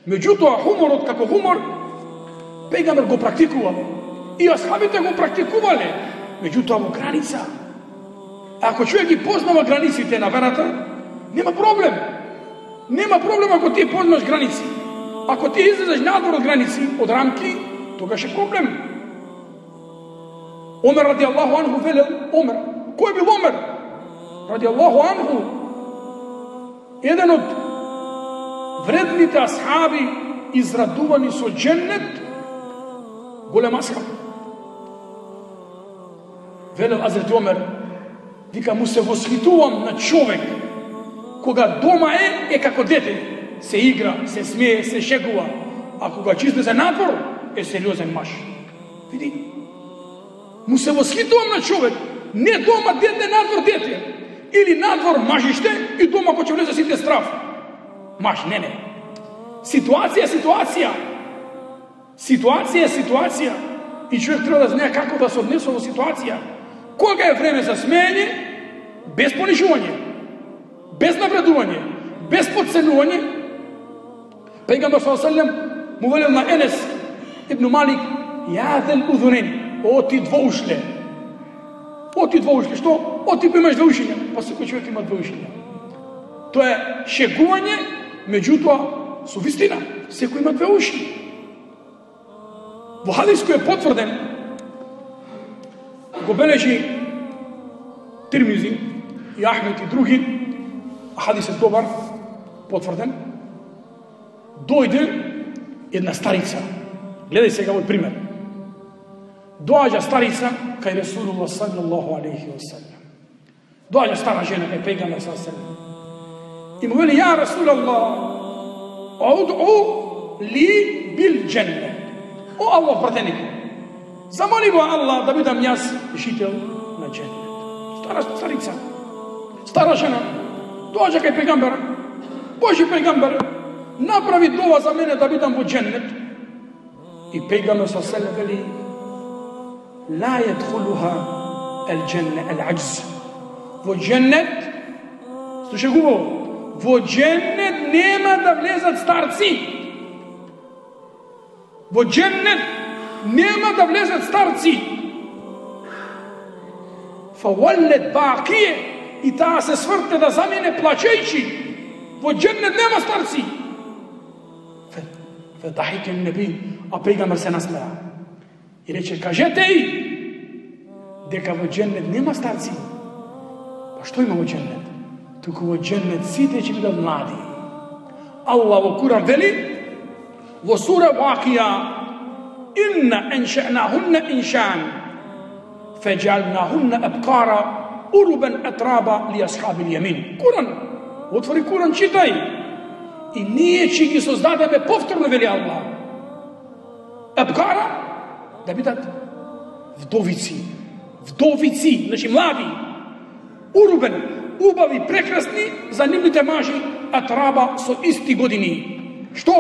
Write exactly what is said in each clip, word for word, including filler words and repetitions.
Меѓутоа, хуморот како хумор, пегамбер го практикувал. И асхабите го практикувале, меѓутоа во граница. Ако човек ги познава границите на верата, нема проблем. Нема проблем ако ти познаш граници. Ако ти излезеш надвор од граници, од рамки, тогаш е проблем. Омер ради Аллаху анху велел, Омер, кој бил Омер? Ради Аллаху анху, еден од вредните асхаби израдувани со дженнет, голем асхаб. Велел Азрет Омер, вика, му се восхитувам на човек кога дома е, е како дете, се игра, се смее, се шегува, а кога чисте за надвор, е сериозен маж. Види, му се восхитувам на човек, не дома дете, надвор дете, или надвор мажиште и дома кој ќе влезе сите страв. Маж, не, не. Ситуација е ситуација. Ситуација е ситуација. И човек треба да знае како да се однесе во ситуација. Кога е време за смеење, без понижување, без навредување, без подценување, пегамбер саллаллаху алейхи ва саллем му велел на Енес ибн Малик, ја зел узунен, о ти двоушле. О ти двоушле, што? О ти имаш две ушиња. Па секој човек има две ушиња. Тоа е шегување, меѓутоа со вистина. Секој има две уши. Во хадис кој е потврден, го бележи Тирмизи и Ахмед и други, а хадис е добар, потврден, дојде една старица. Гледај сега овој пример. Доаѓа старица кај Ресулуллах саллаллаху алейхи ва саллем. Доаѓа стара жена кај пегамбер саллаллаху алейхи ва саллем. И му вели, ја Расулаллах, уд'у ли бил дженне. О Аллах пратеник, замоли го Аллах да бидам јас жител на дженнет. Стара старица, стара жена, доаѓа кај пегамбер, Божи пегамбер, направи дова за мене да бидам во дженнет. И пегамбер саллаллаху алейхи ва саллем вели, ла јадхулуха ел дженне ел аджз. Во дженнет, слушај хубаво, во дженнет нема да влезат старци. Во дженнет нема да влезат старци. Фаваллет бакие, и таа се свртне да замине плачејќи. Во дженнет нема старци. Федахике неби, а пегамбер се насмеа. И рече, кажете и дека во дженнет нема старци. Па што има во дженнет? Туку во дженнет сите ќе бидат млади. Аллах во Куран вели, во сура Вакија, инна енше'нахунна иншан, феджалнахунна абкара, урубен атраба ли асхаби јамин. Куран, отвори Куран, читај. И ние ќе ги создадеме повторно, вели Аллах. Абкара, да бидат вдовици. Вдовици, значи млади. Урубен, убави, прекрасни за нивните мажи, атраба со исти години. Што?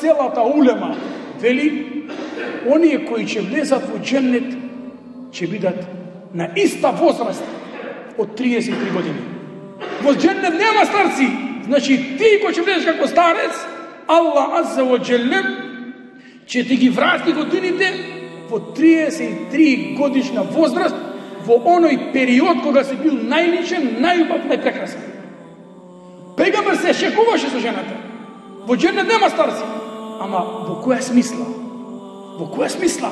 Целата улема вели, оние кои ќе влезат во дженнет ќе бидат на иста возраст од триесет и три години. Во дженнет нема старци. Значи ти кој ќе влезеш како старец, Аллах азза ва джелле ќе ти ги врати годините во триесет и три годишна возраст, во оној период кога си бил најличен, најубав, најпрекрасен. Пегамбер се шегуваше со жената. Во дженнет нема старци. Ама во која смисла? Во која смисла?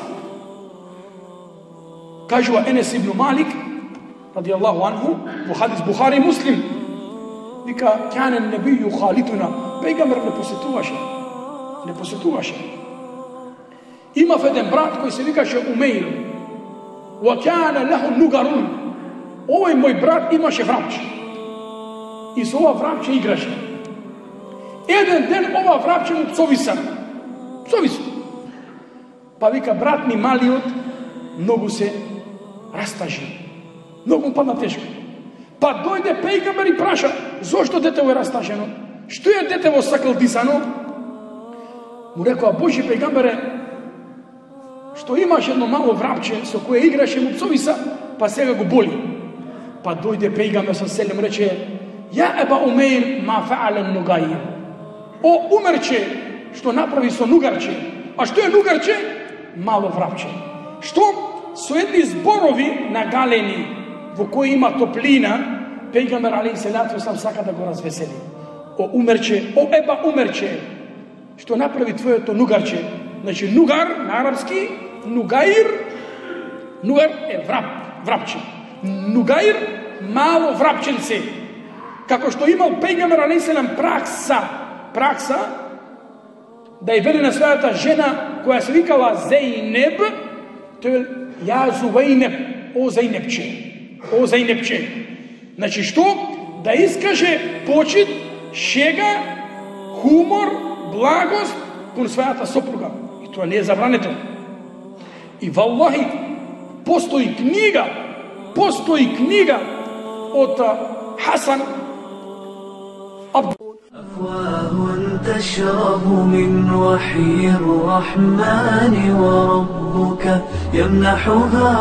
Кажува Енес ибн Малик, ради Аллаху анху, во хадис Бухари и Муслим, вика, кјане небију халитуна, пегамбер не посетуваше. Не посетуваше. Имав еден брат кој се викаше Умеир. Ва кјане леху нугарун. Овој мој брат имаше врапче. И со ова врапче играше. Еден ден ова врапче му пцовиса. Пцовиса. Па вика, брат ми малиот многу се растажи. Многу му падна тешко. Па дојде пегамбер и праша, зошто детево е растажено? Што е детево сакалдисано? Му рекоа, Божи пегамбере, што имаш едно мало врапче со кое играше, му пцовиса, па сега го боли. Па дојде пегамбер со селем, рече, ја еба Умеир ма фаален нугаир. О, умерче, што направи со нугарче. А што е нугарче? Мало врапче. Што со едни зборови нагалени во кои има топлина, пејгамбер алейхи селату веселам сака да го развесели. О умерче, о еба умерче, што направи твоето нугарче? Значи нугар на арапски, нугаир, нугар е врап, врапче. Нугаир, мало врапченце. Како што имал пејгамбер алейхи селам пракса, пракса да ја веле на својата жена која се викала Зејнеб, тој ја Зувејнеб, о Зејнебче, о Зејнебче. Значи што? Да искаже почит, шега, хумор, благост кон својата сопруга. И тоа не е забрането. И валлахи, постои книга, постои книга од Хасан أفواه تشرب من وحي الرحمن وربك يمنحها